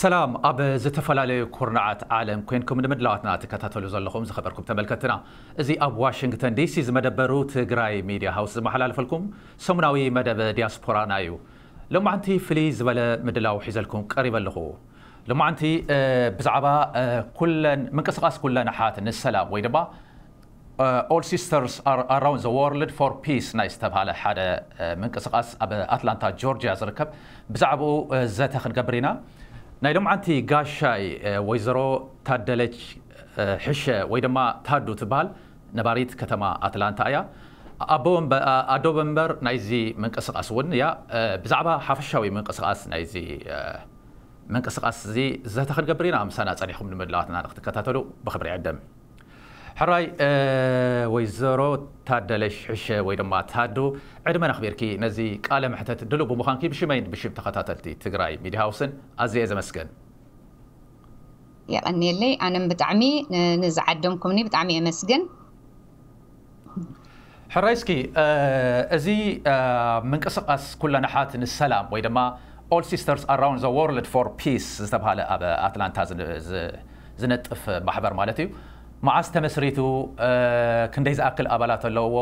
ሰላም፣ ኣብ ዝተፈላለዩ ኩርናዓት ዓለም ኮይንኩም ንምድላዋትና ትከታተሉ ዘለኹም ዝኸበርኩም ተመልከትና፣ እዚ ኣብ ዋሽንግተን ዲሲ ዝመደበሩ ትግራይ ሚድያ ሃውስ ዝመሓላለፈልኩም ሰሙናዊ መደብ ዲያስፖራና እዩ። ሎማዓንቲ ፍልይ ዝበለ ምድላው ሒዘልኩም ቀሪበ ኣለኹ። ሎማዓንቲ ብዛዕባ ኩለን ምንቅስቃስ ኩለን ኣሓት ንሰላም ወይ ድማ All Sisters Around the World for Peace ናይ ዝተባሃለ ሓደ ምንቅስቃስ ኣብ ኣትላንታ ጆርጂያ ዝርከብ፣ ብዛዕባኡ ዘተ ክንገብር ኢና። ናይ ሎምዓንቲ ጋሻይ ወይዘሮ ታደለች ሕሸ ወይ ድማ ታዱ ትበሃል፣ ነባሪት ከተማ ኣትላንታ እያ። ኣዶ ወንበር ናይዚ ምንቅስቃስ እውን እያ። ብዛዕባ ሓፈሻዊ ምንቅስቃስ ናይዚ ምንቅስቃስ እዚ ዘተ ክንገብር ኢና። ምሳና ጸኒሕኩም ንምድላዋትና ንክትከታተሉ ብክብሪ ዕደም። ሕራይ ወይዘሮ ታደለሽ ሕሸ ወይ ድማ ታዱ፣ ዕድመን ኣኽቢርኪ ነዚ ቃለ መሕተት ድሉው ብምዃንኪ ብሽመይን ብሽም ተኸታተልቲ ትግራይ ሚድያ ሃውስን ኣዝየ ዘመስግን። የቐንየለይ። ኣነም ብጣዕሚ ንዝዓደምኩምኒ ብጣዕሚ የመስግን። ሕራይ እስኪ፣ እዚ ምንቅስቃስ ኩለን ኣሓት ንሰላም ወይ ድማ All Sisters Around the World for Peace ዝተባሃለ ኣብ ኣትላንታ ዝነጥፍ ማሕበር ማለት እዩ፣ መዓስ ተመስሪቱ፣ ክንደይ ዝኣክል ኣባላት ኣለዎ፣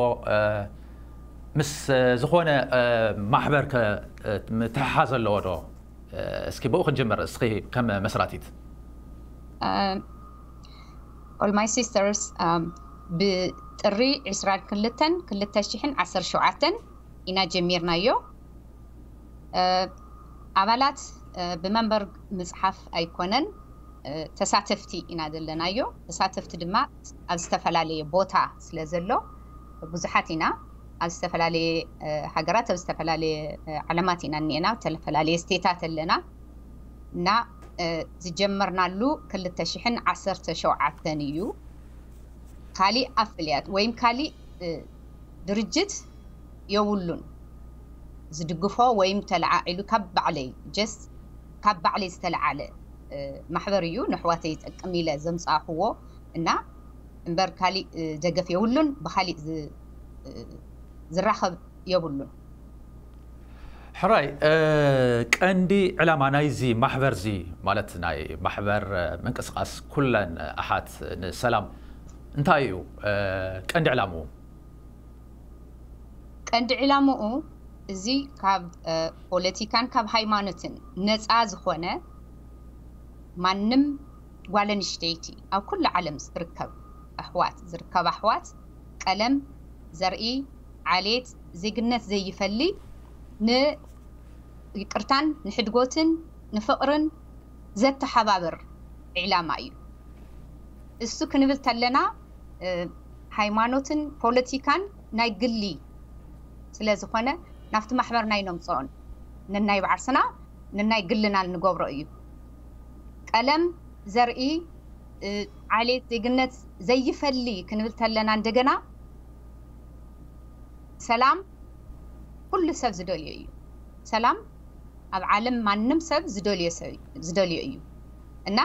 ምስ ዝኾነ ማሕበር ከ ምትሕሓዝ ኣለዎ ዶ? እስኪ ብኡ ክንጅምር፣ እስኪ ከም መስራቲት። All My Sisters ብጥሪ ዕስራን ክልተን ክልተ ሽሕን ዓሰርተ ሸውዓተን ኢና ጀሚርናዮ። ኣባላት ብመንበር ምፅሓፍ ኣይኮነን፣ ተሳተፍቲ ኢና ዘለናዮ። ተሳተፍቲ ድማ ኣብ ዝተፈላለየ ቦታ ስለ ዘሎ ብዙሓት ኢና። ኣብ ዝተፈላለየ ሃገራት፣ ኣብ ዝተፈላለየ ዓለማት ኢና እኒኤና፣ ዝተፈላለየ ስቴታት ኣለና። እና ዝጀመርናሉ ክልተ ሽሕን ዓሰርተ ሸውዓተን እዩ። ካሊእ ኣፍልያት ወይም ካሊእ ድርጅት የብሉን። ዝድግፎ ወይም ተለዓዒሉ ካብ ባዕለይ፣ just ካብ ባዕለይ ዝተለዓለ ማሕበር እዩ። ንሕዋተይ ይጠቅም ኢለ ዘምፃእክዎ እና እምበር ካሊእ ደገፍ የብሉን፣ ብካሊእ ዝራኸብ የብሉን። ሕራይ፣ ቀንዲ ዕላማ ናይዚ ማሕበር እዚ ማለት ናይ ማሕበር ምንቅስቃስ ኩለን ኣሓት ንሰላም እንታይ እዩ ቀንዲ ዕላምኡ? ቀንዲ ዕላምኡ እዚ ካብ ፖለቲካን ካብ ሃይማኖትን ነፃ ዝኾነ ማንም ጓል ኣንስተይቲ ኣብ ኩሉ ዓለም ዝርከብ ኣሕዋት ዝርከብ ኣሕዋት ቀለም፣ ዘርኢ፣ ዓሌት፣ ዜግነት ዘይፈሊ ንይቅርታን ንሕድጎትን ንፍቕርን ዘተሓባብር ዕላማ እዩ። እሱ ክንብል ተለና ሃይማኖትን ፖለቲካን ናይ ግሊ ስለ ዝኾነ ናብቲ ማሕበርና ኣይነምፅኦን። ነናይ ባዕርስና ነናይ ግልና ንገብሮ እዩ። ቀለም፣ ዘርኢ፣ ዓሌት፣ ዜግነት ዘይፈሊ ክንብል ተለና እንደገና ሰላም ኩሉ ሰብ ዝደልዮ እዩ። ሰላም ኣብ ዓለም ማንም ሰብ ዝደልዮ ሰብ ዝደልዮ እዩ እና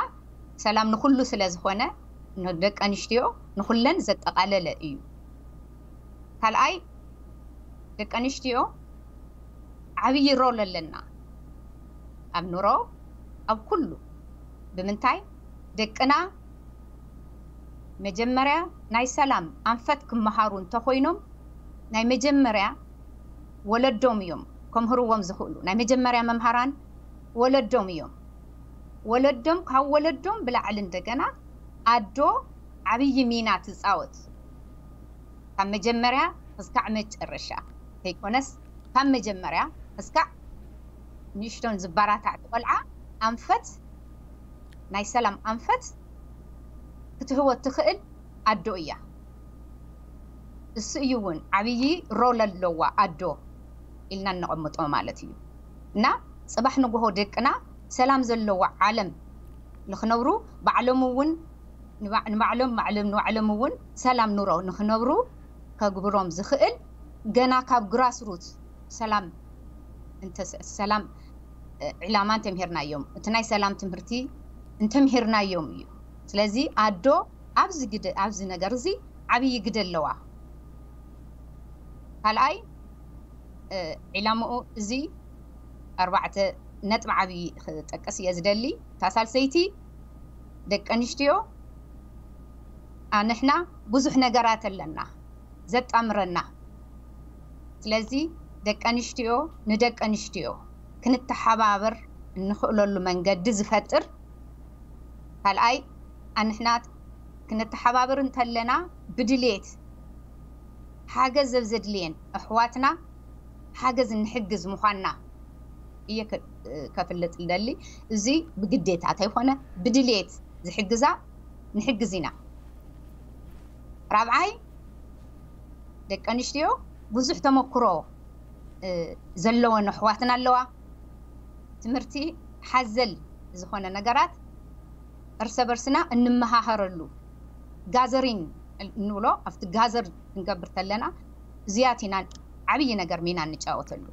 ሰላም ንኩሉ ስለ ዝኾነ ንደቂ ኣንስትዮ ንኩለን ዘጠቓለለ እዩ። ካልኣይ ደቂ ኣንስትዮ ዓብዪ ሮል ኣለና ኣብ ኑሮ ኣብ ኩሉ። ብምንታይ ደቅና መጀመርያ ናይ ሰላም ኣንፈት ክመሃሩ እንተኾይኖም ናይ መጀመርያ ወለዶም እዮም ከምህርዎም ዝኽእሉ። ናይ መጀመርያ መምሃራን ወለዶም እዮም። ወለዶም ካብ ወለዶም ብላዕሊ እንደገና ኣዶ ዓብዪ ሚና ትፃወት። ካብ መጀመርያ ክስካዕ መጨረሻ ዘይኮነስ ካብ መጀመርያ ክስካዕ ንእሽቶን ዝበራታዕ ቆልዓ ኣንፈት ናይ ሰላም ኣንፈት ክትህቦ ትኽእል ኣዶ እያ። እሱ እዩ እውን ዓብዪ ሮል ኣለዋ ኣዶ ኢልና እነቐምጦ ማለት እዩ። እና ፅባሕ ንጎሆ ደቅና ሰላም ዘለዋ ዓለም ንክነብሩ ባዕሎም እውን ንባዕሎም ባዕሎም ንባዕሎም እውን ሰላም ኑሮ ንክነብሩ ከግብሮም ዝኽእል ገና ካብ ግራስሩት ሰላም ሰላም ዕላማ እንተምሂርናዮም እቲ ናይ ሰላም ትምህርቲ እንተምሂርናዮም እዩ። ስለዚ ኣዶ ኣብዚ ግደ ኣብዚ ነገር እዚ ዓብዪ ግደ ኣለዋ። ካልኣይ ዕላምኡ እዚ ኣርባዕተ ነጥቢ ዓብዪ ክጠቅስ እየ ዝደሊ። እታ ሳልሰይቲ፣ ደቂ ኣንስትዮ ኣንሕና ብዙሕ ነገራት ኣለና ዘጣምረና። ስለዚ ደቂ ኣንስትዮ ንደቂ ኣንስትዮ ክንተሓባበር እንኽእለሉ መንገዲ ዝፈጥር፣ ካልኣይ፣ ኣንሕና ክንተሓባበር እንተለና ብድሌት ሓገዝ ዘብ ዘድልየን ኣሕዋትና ሓገዝ እንሕግዝ ምዃንና እየ ከ-፣ ከፍልጥ ልደሊ። እዚ ብግዴታ ተይኮነ ብድሌት ዝሕግዛ ንሕግዝ ኢና። ራብዓይ፣ ደቂ ኣንስትዮ ብዙሕ ተመክሮ፣ እ፣ ዘለወን ኣሕዋትና ኣለዋ። ትምህርቲ ሓዘል ዝኾነ ነገራት እርሰ በርስና እንመሃሃረሉ፣ ጋዘሪን እንብሎ፣ ኣብቲ ጋዘር ክንገብር ተለና እዚያት ኢና ዓብዪ ነገር ሚና እንጫወተሉ።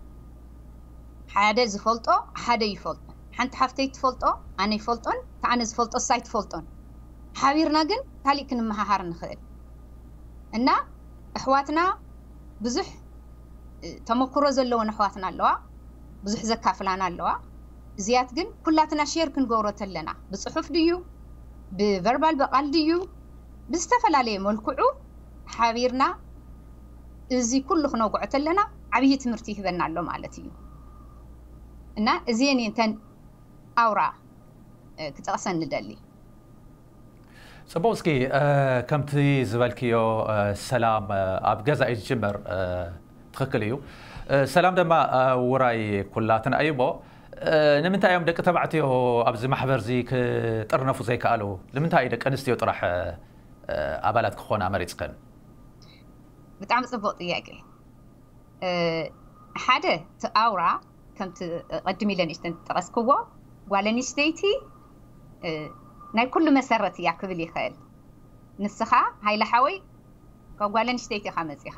ሓደ ዝፈልጦ ሓደ ይፈልጦ። ሓንቲ ሓፍተይ ትፈልጦ ኣነ ይፈልጦን፣ እታ ኣነ ዝፈልጦ እሳ ኣይትፈልጦን። ሓቢርና ግን ካሊእ ክንመሃሃር ንኽእል። እና ኣሕዋትና ብዙሕ፣ እ፣ ተመክሮ ዘለወን ኣሕዋትና ኣለዋ፣ ብዙሕ ዘካፍላና ኣለዋ። እዚያት ግን ኩላትና ሼር ክንገብሮ ተለና፣ ብጽሑፍ ድዩ፣ ብቨርባል፣ ብቓል ድዩ፣ ብዝተፈላለየ መልክዑ ሓቢርና እዚ ኩሉ ክነውግዖ ተለና ዓብዪ ትምህርቲ ይህበና ኣሎ ማለት እዩ። እና እዚአን እየን እተን ኣውራ፣ እ፣ ክጠቕሰን ንደሊ። ጽቡቕ። እስኪ፣ እ፣ ከምቲ ዝበልክዮ፣ እ፣ ሰላም፣ እ፣ ኣብ ገዛ እዩ ዝጅመር፣ እ፣ ትኽክል እዩ። እ፣ ሰላም ድማ፣ እ፣ ውራይ ኩላትና እዩ እሞ፣ እ፣ ንምንታይ እዮም ደቂ ተባዕትዮ ኣብዚ ማሕበር እዚ ክጥርነፉ ዘይከኣሉ? ንምንታይ እዩ ደቂ ኣንስትዮ ጥራሕ፣ እ፣ ኣባላት ክኾና መሪጽክን? ብጣዕሚ ጽቡቕ ጥያቄ። እ፣ ሓደ፣ እቲ ኣውራ ከምቲ ቅድም ኢለ ንእሽተን ዝጠቐስክዎ፣ ጓል ኣንስተይቲ፣ እ፣ ናይ ኩሉ መሰረት እያ ክብል ይኽእል። ንስኻ ሃይለ ሓወይ ካብ ጓል ኣንስተይቲ ኢኻ መጺኻ፣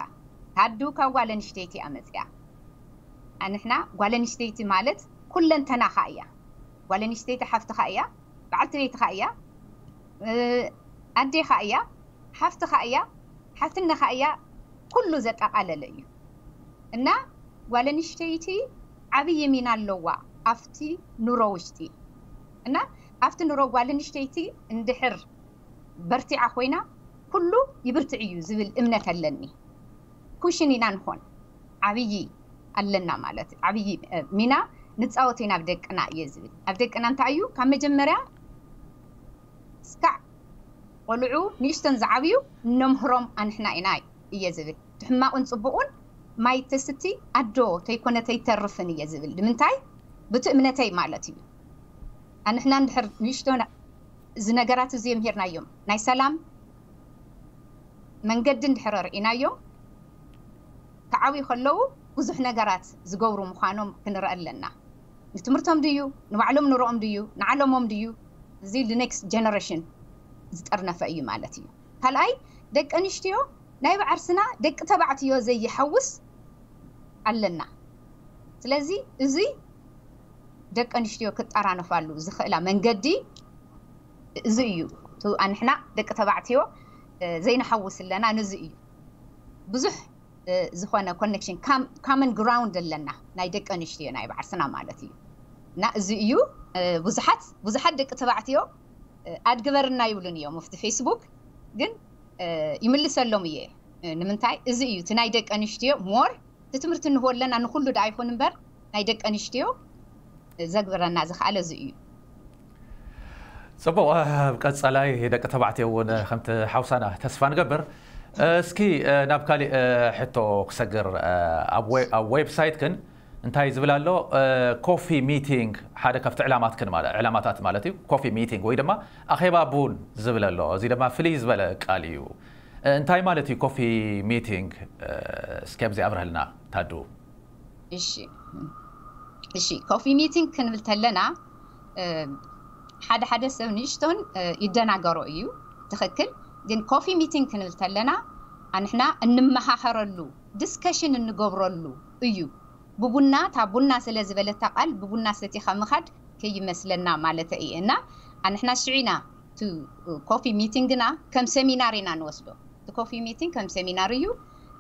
ታዱ ካብ ጓል ኣንስተይቲ እያ መጺኣ። ኣንሕና ጓል ኣንስተይቲ ማለት ኩለንተናኻ እያ። ጓል ኣንስተይቲ ሓፍትኻ እያ፣ በዓልቲ ቤትኻ እያ፣ እ፣ ኣዴኻ እያ፣ ሓፍትኻ እያ፣ ሓትነኻ እያ፣ ኩሉ ዘጠቓለለ እዩ። እና ጓል ኣንስተይቲ ዓብዪ ሚና ኣለዋ ኣብቲ ኑሮ ውሽጢ። እና ኣብቲ ኑሮ ጓል ኣንስተይቲ እንድሕር በርቲዓ ኮይና ኩሉ ይብርትዕ እዩ ዝብል እምነት ኣለኒ። ኩሽን ኢና ንኾን፣ ዓብዪ ኣለና ማለት፣ ዓብዪ፣ እ፣ ሚና ንጻወት ኢና ኣብ ደቅና እየ ዝብል። ኣብ ደቅና እንታይ እዩ? ካብ መጀመርያ እስካዕ ቆልዑ ንእሽተን ዝዓብዩ እነምህሮም ኣንሕና ኢና እየ ዝብል። እቲ ሕማቑን ጽቡቑን ማይ ተስቲ ኣዶ ተይኮነ ተይተርፍን እየ ዝብል። ንምንታይ? ብቲ እምነተይ ማለት እዩ። ኣንሕና እንድሕር ንእሽቶ ነ-፣ እዚ ነገራት እዚ የምሂርናዮም፣ ናይ ሰላም መንገዲ እንድሕር ርኢናዮም፣ ክዓብዩ ከለዉ ብዙሕ ነገራት ዝገብሩ ምዃኖም ክንርኢ ኣለና። ንትምህርቶም ድዩ፣ ንባዕሎም ንሮኦም ድዩ፣ ንዓለሞም ድዩ፣ እዚ ንኔክስት ጀነሬሽን ዝጠርነፈ እዩ ማለት እዩ። ካልኣይ፣ ደቂ ኣንስትዮ ናይ ባዕርስና ደቂ ተባዕትዮ ዘይሓውስ ኣለና። ስለዚ እዚ ደቂ ኣንስትዮ ክጠራነፋሉ ዝኽእላ መንገዲ እዚ እዩ። እቲ ኣንሕና ደቂ ተባዕትዮ፣ እ፣ ዘይንሓውስ ኣለና፣ ነዚ እዩ። ብዙሕ፣ እ፣ ዝኾነ ኮኔክሽን፣ ካም-፣ ካመን ግራውንድ ኣለና፣ ናይ ደቂ ኣንስትዮ ናይ ባዕርስና ማለት እዩ። እና እዚ እዩ፣ እ፣ ብዙሓት፣ ብዙሓት ደቂ ተባዕትዮ፣ እ፣ ኣድግበርና ይብሉን እዮም ኣብቲ ፌስቡክ፣ ግን፣ እ፣ ይምልሰሎም እየ። እ፣ ንምንታይ? እዚ እዩ እቲ ናይ ደቂ ኣንስትዮ ሞር እቲ ትምህርቲ ንህቦ ኣለና፣ ንኹሉ ደኣ ይኹን እምበር ናይ ደቂ ኣንስትዮ ዘግብረና ዝኸኣለ እዚ እዩ። ጽቡቕ፣ ኣብ ቀጻላይ ደቂ ተባዕትዮ እውን ከምቲ ሓውሳና ተስፋ ንገብር። እስኪ ናብ ካሊእ ሕቶ ክሰግር። ኣብ ዌ-፣ ኣብ ዌብሳይትክን እንታይ ዝብል ኣሎ? ኮፊ ሚቲንግ ሓደ ካብቲ ዕላማትክን ማለ-፣ ዕላማታት ማለት እዩ። ኮፊ ሚቲንግ ወይ ድማ ኣኼባ ቡን ዝብል ኣሎ። እዚ ድማ ፍልይ ዝበለ ቃል እዩ። እንታይ ማለት እዩ ኮፊ ሚቲንግ? እስኪ ኣብዚ ኣብርህልና ታዱ። እሺ፣ እሺ፣ ኮፊ ሚቲንግ ክንብል ተለና፣ እ፣ ሓደ ሓደ ሰብ ንእሽቶን፣ እ፣ ይደናገሮ እዩ። ትኽክል። ግን ኮፊ ሚቲንግ ክንብል ተለና ኣንሕና እንመሃኸረሉ፣ ዲስከሽን እንገብረሉ እዩ። ብቡና፣ እታ ቡና ስለ ዝበለታ ቃል ብቡና ሰቲኻ ምኻድ ከይመስለና ማለት እየ። እና ኣንሕና ሽዒና ቱ ኮፊ ሚቲንግና ከም ሰሚናር ኢና ንወስዶ። እቲ ኮፊ ሚቲንግ ከም ሰሚናር እዩ።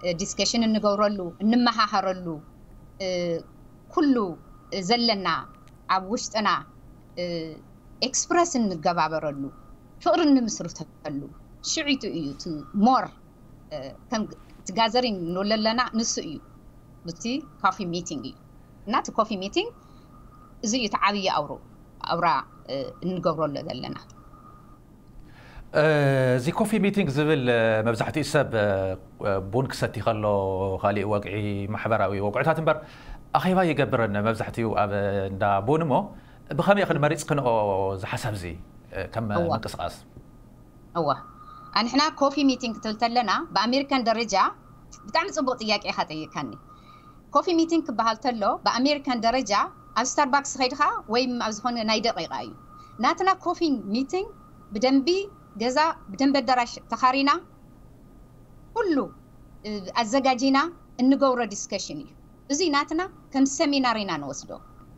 እ፣ ዲስከሽን እንገብረሉ፣ እንመሃሃረሉ፣ እ፣ ኩሉ ዘለና ኣብ ውሽጥና ኤክስፕረስ እንገባበረሉ፣ ፍቕሪ እንምስርተሉ ሽዒቱ እዩ። እቲ ሞር ከም እቲ ጋዘሪንግ ንብሎ ዘለና ንሱ እዩ። እቲ ኮፊ ሚቲንግ እዩ። እና እቲ ኮፊ ሚቲንግ እዚ እዩ እቲ ዓብዪ ኣውሮ ኣውራ እንገብረሉ ዘለና። እዚ ኮፊ ሚቲንግ ዝብል መብዛሕትኡ ሰብ ቡን ክሰቲ ከሎ፣ ካሊእ ወግዒ፣ ማሕበራዊ ወግዕታት እምበር ኣኼባ ይገብርን መብዛሕትኡ ኣብ እንዳ ቡን። እሞ ብኸመይ ኢኽን መሪፅክንኦ እዚ ሓሳብ እዚ ከም ምንቅስቃስ? እዋ፣ ኣንሕና ኮፊ ሚቲንግ ክትብል ተለና ብኣሜሪካን ደረጃ ብጣዕሚ ፅቡቅ ጥያቄ ኢኻ ጠይቃኒ። ኮፊ ሚቲንግ ክበሃል ተሎ ብኣሜሪካን ደረጃ ኣብ ስታርባክስ ኸይድኻ ወይም ኣብ ዝኾነ ናይ ደቂቃ እዩ። ናትና ኮፊ ሚቲንግ ብደንቢ ገዛ ብደንቢ ኣዳራሽ ተኻሪና ኩሉ ኣዘጋጂና እንገብሮ ዲስከሽን እዩ። እዚ ናትና ከም ሰሚናር ኢና ንወስዶ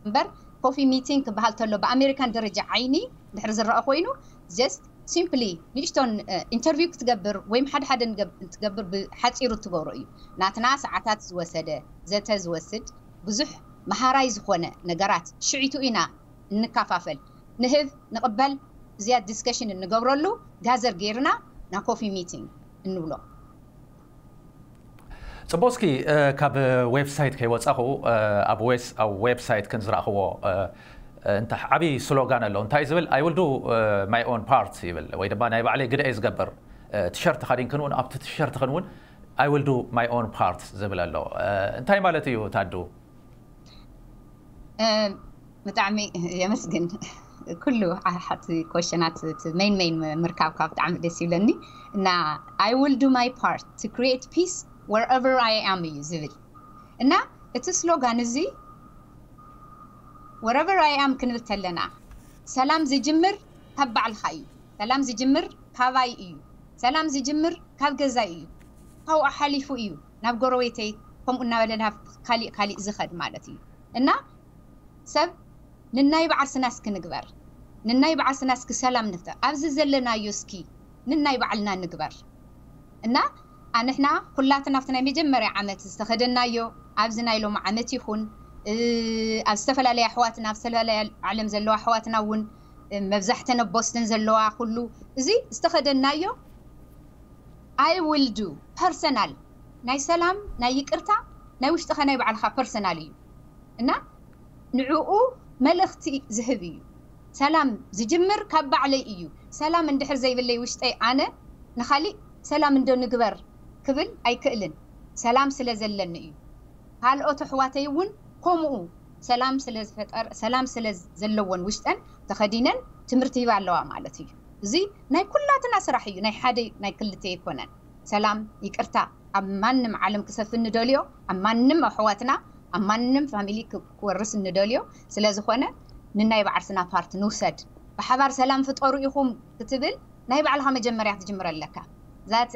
እምበር ኮፊ ሚቲንግ ክበሃል ተሎ ብኣሜሪካን ደረጃ ዓይኒ ድሕሪ ዝረአ ኮይኑ ጀስት ሲምፕሊ ንእሽቶን ኢንተርቪው ክትገብር ወይም ሓደ ሓደ ትገብር ብሓፂሩ ትገብሮ እዩ። ናትና ሰዓታት ዝወሰደ ዘተ ዝወስድ ብዙሕ መሃራይ ዝኾነ ነገራት ሽዒቱ ኢና እንካፋፈል፣ ንህብ ንቕበል፣ እዚኣ ዲስከሽን እንገብረሉ ጋዘር ጌርና ና ኮፊ ሚቲንግ እንብሎ። ፅቡቅ። እስኪ ካብ ዌብሳይት ከይወፃኹ ኣብ ዌስ ኣብ ዌብሳይት ክን ዝረእኽዎ እንታ ዓብዪ ስሎጋን ኣሎ። እንታይ ዝብል? I will do my own part ይብል፣ ወይ ድማ ናይ ባዕለይ ግደ እየ ዝገብር። ቲሸርት ተኸዲንክን እውን ኣብቲ ቲሸርትክን እውን I will do my own part ዝብል ኣሎ። እንታይ ማለት እዩ ታዱ? ብጣዕሚ የመስግን። ኩሉ ሓቲ ኮሽናት ሜን ሜን ምርካብካ ብጣዕሚ ደስ ይብለኒ። እና I will do my part to create peace wherever I am እዩ ዝብል። እና እቲ ስሎጋን እዚ wherever I am ክንብል ተለና ሰላም ዝጅምር ካብ ባዕልኻ እዩ። ሰላም ዝጅምር ካባይ እዩ። ሰላም ዝጅምር ካብ ገዛይ እዩ። ካብኡ ሓሊፉ እዩ ናብ ጎረቤተይ፣ ከምኡ እናበለ ናብ ካሊእ ካሊእ ዝኸድ ማለት እዩ። እና ሰብ ንናይ በዓል ስናስ ክንግበር፣ ንናይ በዓል ስናስ ክሰላም ንፍጠር። ኣብዚ ዘለናዮ እስኪ ንናይ ባዕልና ንግበር። እና ኣንሕና ኩላትና ኣብቲ ናይ መጀመርያ ዓመት ዝተኸደናዮ ኣብዚ ናይ ሎሚ ዓመት ይኹን ኣብ ዝተፈላለያ ኣሕዋትና ኣብ ዝተፈላለያ ዓለም ዘለዋ ኣሕዋትና እውን መብዛሕተን ኣብ ቦስተን ዘለዋ ኩሉ እዚ ዝተኸደናዮ I will do personal ናይ ሰላም ናይ ይቅርታ ናይ ውሽጥኻ ናይ ባዕልኻ ፐርሰናል እዩ እና ንዕኡ መልእኽቲ ዝህብ እዩ። ሰላም ዝጅምር ካብ ባዕለይ እዩ። ሰላም እንድሕር ዘይብለይ ውሽጠይ ኣነ ንኻሊእ ሰላም እንዶ ንግበር ክብል ኣይክእልን። ሰላም ስለ ዘለኒ እዩ። ካልኦት ኣሕዋተይ እውን ከምኡ ሰላም ስለ ዝፈጠር ሰላም ስለ ዘለዎን ውሽጠን ተኸዲነን ትምህርቲ ይህባ ኣለዋ ማለት እዩ። እዚ ናይ ኩላትና ስራሕ እዩ፣ ናይ ሓደ ናይ ክልተ ኣይኮነን። ሰላም ይቅርታ ኣብ ማንም ዓለም ክሰፍን ንደልዮ፣ ኣብ ማንም ኣሕዋትና ኣብ ማንም ፋሚሊ ክወርስ ንደልዮ። ስለዝኾነ ንናይ ባዕርስና ፓርት ንውሰድ። ብሓባር ሰላም ፍጠሩ ኢኹም ክትብል ናይ ባዕልኻ መጀመርያ ትጅምር ኣለካ። ዛት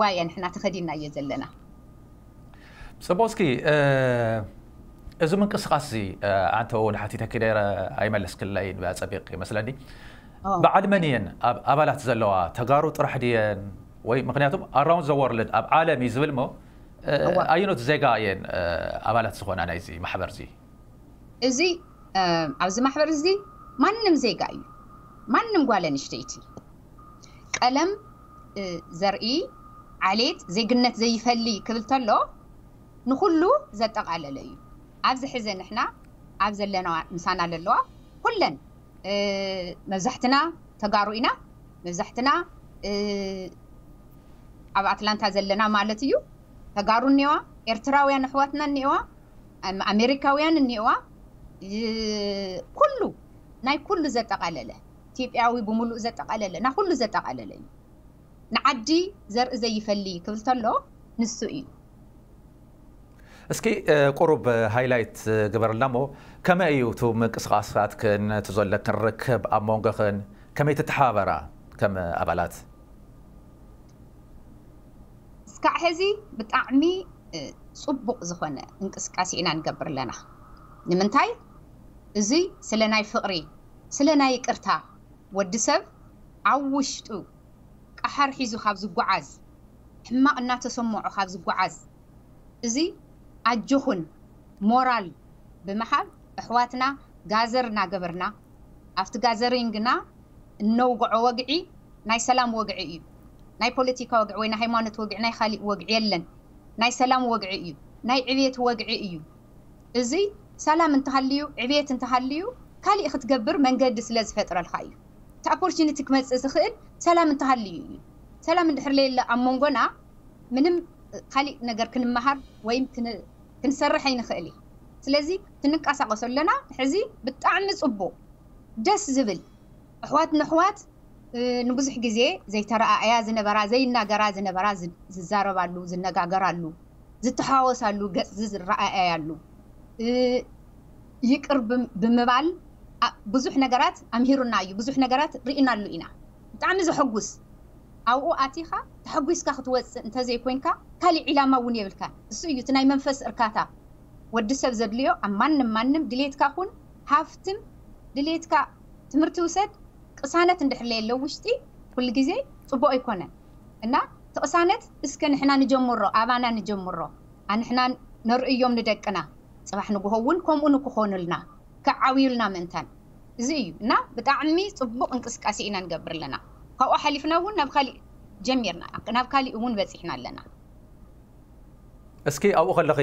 ዋየ ንሕና ተኸዲናዮ ዘለና። ፅቡቅ። እስኪ እዚ ምንቅስቃስ እዚ ኣንተ እውን ሓቲተኪ ነይረ ኣይመለስክለይን ብኣፀቢቅ ይመስለኒ። በዓል መን እየን ኣባላት ዘለዋ? ተጋሩ ጥራሕ ድየን? ወይ ምክንያቱም ኣራውንድ ዘ ወርልድ ኣብ ዓለም እዩ ዝብል ሞ ኣየኖት ዜጋ እየን ኣባላት ዝኾና ናይዚ ማሕበር እዚ? እዚ ኣብዚ ማሕበር እዚ ማንም ዜጋ እዩ። ማንም ጓል ኣንስተይቲ ቀለም፣ ዘርኢ፣ ዓሌት፣ ዜግነት ዘይፈሊ ክብል ተሎ ንኩሉ ዘጠቃለለ እዩ። ኣብዚ ሕዘ ንሕና ኣብ ዘለና ምሳና ዘለዋ ኩለን መብዛሕትና ተጋሩ ኢና። መብዛሕትና ኣብ ኣትላንታ ዘለና ማለት እዩ። ተጋሩ እኒዋ፣ ኤርትራውያን ኣሕዋትና እኒዋ፣ ኣሜሪካውያን እኒዋ፣ ኩሉ ናይ ኩሉ ዘጠቃለለ ኢትዮጵያዊ ብምሉእ ዘጠቃለለ ና ኩሉ ዘጠቃለለ እዩ። ንዓዲ ዘርኢ ዘይፈሊ ክብል ተሎ ንሱ እዩ። እስኪ ቁሩብ ሃይላይት ግበርልና እሞ ከመይ እዩ እቲ ምንቅስቃሳትክን እቲ ዘለክን ርክብ ኣብ መንጎኽን ከመይ ትተሓባበራ ከም ኣባላት? እስካዕ ሕዚ ብጣዕሚ ፅቡቅ ዝኾነ እንቅስቃሴ ኢና ንገብር ኣለና። ንምንታይ? እዚ ስለ ናይ ፍቅሪ ስለ ናይ ይቅርታ ወዲ ሰብ ኣብ ውሽጡ ቀሓር ሒዙ ካብ ዝጓዓዝ ሕማቅ እናተሰምዖ ካብ ዝጓዓዝ እዚ ኣጆኹን ሞራል ብምሃብ ኣሕዋትና ጋዘር እናገበርና ኣብቲ ጋዘሪንግና እነውግዖ ወግዒ ናይ ሰላም ወግዒ እዩ። ናይ ፖለቲካ ወግዒ ወይ ናይ ሃይማኖት ወግዒ ናይ ካሊእ ወግዒ የለን። ናይ ሰላም ወግዒ እዩ። ናይ ዕብየት ወግዒ እዩ። እዚ ሰላም እንተሃልዩ ዕብየት እንተሃልዩ ካሊእ ክትገብር መንገዲ ስለ ዝፈጥረልካ እዩ። እቲ ኦፖርቹኒቲ ክመፅእ ዝኽእል ሰላም እንተሃልዩ እዩ። ሰላም እንድሕር ለየለ ኣብ መንጎና ምንም ካሊእ ነገር ክንመሃር ወይም ክንሰርሕ ኣይንኽእል እዩ። ስለዚ ክንንቀሳቀሶ ኣለና። ሕዚ ብጣዕሚ ፅቡቅ ደስ ዝብል ኣሕዋት ንኣሕዋት ንብዙሕ ግዜ ዘይተረኣእያ ዝነበራ ዘይናገራ ዝነበራ ዝዛረባሉ ዝነጋገራሉ ዝተሓዋወሳሉ ገፅ ዝረኣእያሉ ይቅር ብምባል ብዙሕ ነገራት ኣምሂሩና እዩ። ብዙሕ ነገራት ርኢናሉ ኢና። ብጣዕሚ ዘሐጉስ ኣብኡ ኣቲኻ ተሐጒስካ ክትወፅእ እንተዘይኮይንካ ካሊእ ዒላማ እውን የብልካን። እሱ እዩ እቲ ናይ መንፈስ እርካታ ወዲ ሰብ ዘድልዮ። ኣብ ማንም ማንም ድሌትካ ኩን ሃፍትም ድሌትካ ትምህርቲ ውሰድ ቅሳነት እንድሕር ለየለው ውሽጢ ኩሉ ግዜ ፅቡቅ ኣይኮነን እና እቲ ቅሳነት እስከ ንሕና ንጀምሮ ኣባና ንጀምሮ ኣንሕና ነርእዮም ንደቅና ፅባሕ ንግሆ እውን ከምኡ ንክኾኑልና ክዓብዩልና ምእንታን እዚ እዩ እና ብጣዕሚ ፅቡቅ እንቅስቃሴ ኢና ንገብር ኣለና። ካብኡ ሓሊፍና እውን ናብ ካሊእ ጀሚርና ናብ ካሊእ እውን በፂሕና ኣለና። እስኪ ኣብኡ ከለኺ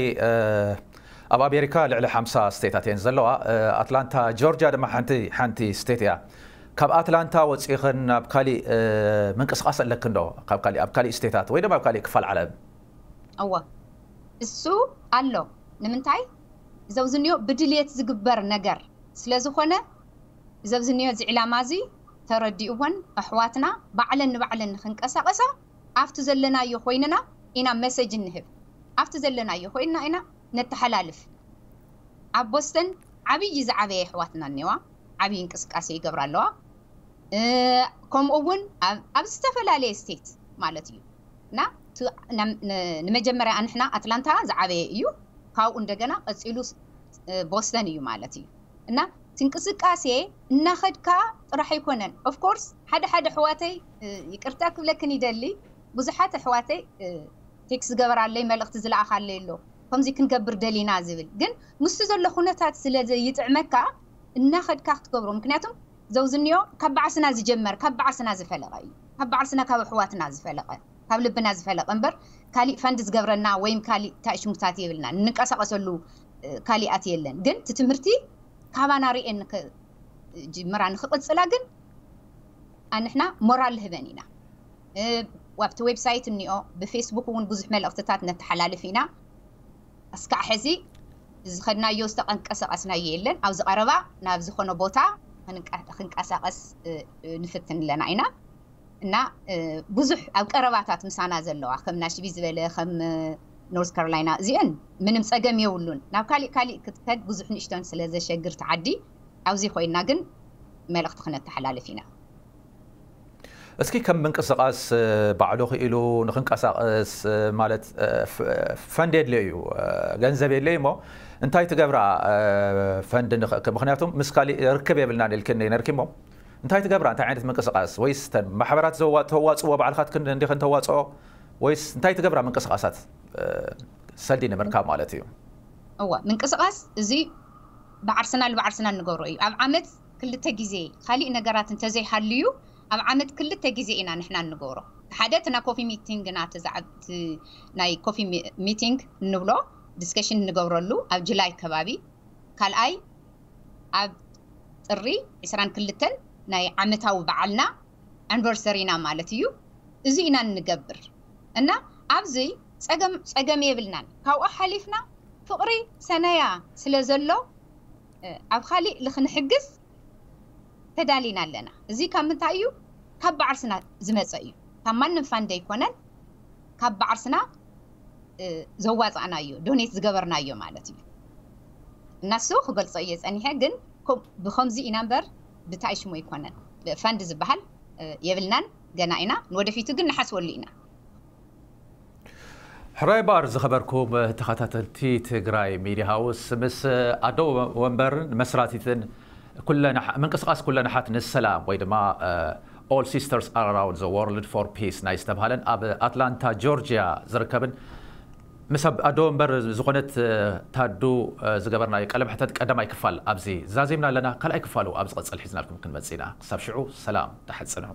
ኣብ ኣሜሪካ ልዕሊ ሓምሳ ስቴታት እየን ዘለዋ። ኣትላንታ ጆርጅያ ድማ ሓንቲ ሓንቲ ስቴት እያ። ካብ ኣትላንታ ወፂእኽን ናብ ካሊእ ምንቅስቃስ ኣለክን ዶ? ካብ ካሊእ ኣብ ካሊእ ስቴታት ወይ ድማ ኣብ ካሊእ ክፋል ዓለም? እወ እሱ ኣሎ። ንምንታይ ዘብዝንዮ ብድልየት ዝግበር ነገር ስለ ዝኾነ ዘብዝንዮ እዚ ዕላማ እዚ ተረዲእወን ኣሕዋትና ባዕለን ንባዕለን ንክንቀሳቀሳ ኣብቲ ዘለናዮ ኮይንና ኢና መሰጅ እንህብ ኣብቲ ዘለናዮ ኮይንና ኢና ነተሓላልፍ ኣብ ቦስተን ዓብዪ ዝዓበየ ኣሕዋትና እኒዋ ዓብዪ እንቅስቃሴ ይገብራ ኣለዋ ከምኡ እውን ኣብ ዝተፈላለየ ስቴት ማለት እዩ እና ንመጀመርያ ኣንሕና ኣትላንታ ዝዓበየ እዩ ካብኡ እንደገና ቀፂሉ ቦስተን እዩ ማለት እዩ እና ትንቅስቃሴ እናኸድካ ጥራሕ ኣይኮነን ኦፍኮርስ ሓደ ሓደ ኣሕዋተይ ይቅርታ ክብለክን ይደሊ ብዙሓት ኣሕዋተይ ቴክስ ዝገበራለይ መልእክቲ ዝለኣኻለይ ኣሎ ከምዚ ክንገብር ደሊና ዝብል ግን ምስቲ ዘሎ ኩነታት ስለ ዘይጥዕመካ እናኸድካ ክትገብሮ ምክንያቱም ዘውዝንዮ ካብ በዓስና ዝጀመር ካብ በዓስና ዝፈለቀ እዩ ካብ በዓስና ካብ ኣሕዋትና ዝፈለቀ ካብ ልብና ዝፈለቀ እምበር ካሊእ ፈንድ ዝገብረና ወይም ካሊእ ታእሽሙታት የብልና ንንቀሳቀሰሉ ካሊኣት የለን ግን እቲ ትምህርቲ ካባና ርኤን ጅምራ ንክቅፅላ ግን ኣንሕና ሞራል ህበን ኢና ኣብቲ ዌብሳይት እኒኦ ብፌስቡክ እውን ብዙሕ መልእክትታት ነተሓላልፍ ኢና እስካዕ ሕዚ ዝኸድናዮ ዝተቀንቀሰቀስናዮ የለን ኣብዚ ቀረባ ናብ ዝኾነ ቦታ ክንቀሳቀስ ንፍትን ኣለና ኢና እና ብዙሕ ኣብ ቀረባታት ምሳና ዘለዋ ከም ናሽቪ ዝበለ ከም ኖርት ካሮላይና እዚአን ምንም ፀገም የብሉን ናብ ካሊእ ካሊእ ክትከድ ብዙሕ ንእሽቶን ስለ ዘሸግር ተዓዲ ኣብዚ ኮይና ግን መልእክቲ ክነተሓላልፍ ኢና እስኪ ከም ምንቅስቃስ ባዕሉ ክኢሉ ንክንቀሳቀስ ማለት ፈንድ የድልዮ እዩ ገንዘብ የድልዮ እሞ እንታይ ትገብራ ፈንድ ንክእክብ ምክንያቱም ምስ ካሊእ ርክብ የብልናን ኢልክኒ ነርኪ እሞ እንታይ ትገብራ እንታይ ዓይነት ምንቅስቃስ ወይስ ተን ማሕበራት ተዋፅዎ ባዕልካትክን እንዲክን ተዋፅኦ ወይስ እንታይ ትገብራ ምንቅስቃሳት ሰልዲ ንምርካብ ማለት እዩ እዋ ምንቅስቃስ እዚ ብዓርስና ልብዓርስና እንገብሮ እዩ ኣብ ዓመት ክልተ ግዜ ካሊእ ነገራት እንተዘይሃልዩ ኣብ ዓመት ክልተ ግዜ ኢና ንሕና እንገብሮ ሓደ እቲ ናይ ኮፊ ሚቲንግ ናተ ናይ ኮፊ ሚቲንግ እንብሎ ዲስከሽን እንገብረሉ ኣብ ጅላይ ከባቢ ካልኣይ ኣብ ጥሪ ዕስራን ክልተን ናይ ዓመታዊ በዓልና ኣንቨርሰሪና ማለት እዩ እዚ ኢና እንገብር እና ኣብዚ ፀገም ፀገም የብልናን ካብኡ ሓሊፍና ፍቕሪ ሰነያ ስለ ዘሎ ኣብ ካሊእ ልክንሕግዝ ተዳሊና ኣለና እዚ ካብ ምንታይ እዩ ካብ በዓርስና ዝመፀ እዩ ካብ ማንም ፋንድ ኣይኮነን ካብ በዓርስና ዘዋፃእናዮ ዶኔት ዝገበርናዮ ማለት እዩ እናሱ ክገልፆ እየ ፀኒሐ ግን ብከምዚ ኢና እምበር ብታይ ሽሙ ኣይኮነን ፈንድ ዝበሃል የብልናን ገና ኢና ንወደፊቱ ግን ንሓስበሉ ኢና ሕራይ ባር ዝኸበርኩም ተኸታተልቲ ትግራይ ሚድያ ሃውስ ምስ ኣዶ ወንበርን መስራቲትን ምንቅስቃስ ኩለንሓት ንሰላም ወይ ድማ All Sisters Around the World for Peace ናይ ዝተብሃለን ኣብ ኣትላንታ ጆርጅያ ዝርከብን ምስ ኣዶ እምበር ዝኾነት ታዱ ዝገበርናዮ ቀለምሕተት ቀዳማይ ክፋል ኣብዚ ዛዚምና ኣለና። ካልኣይ ክፋሉ ኣብ ዝቐጽል ሒዝናልኩም ክንመጽእ ኢና። ክሳብ ሽዑ ሰላም፣ ደሓን ጽንሑ።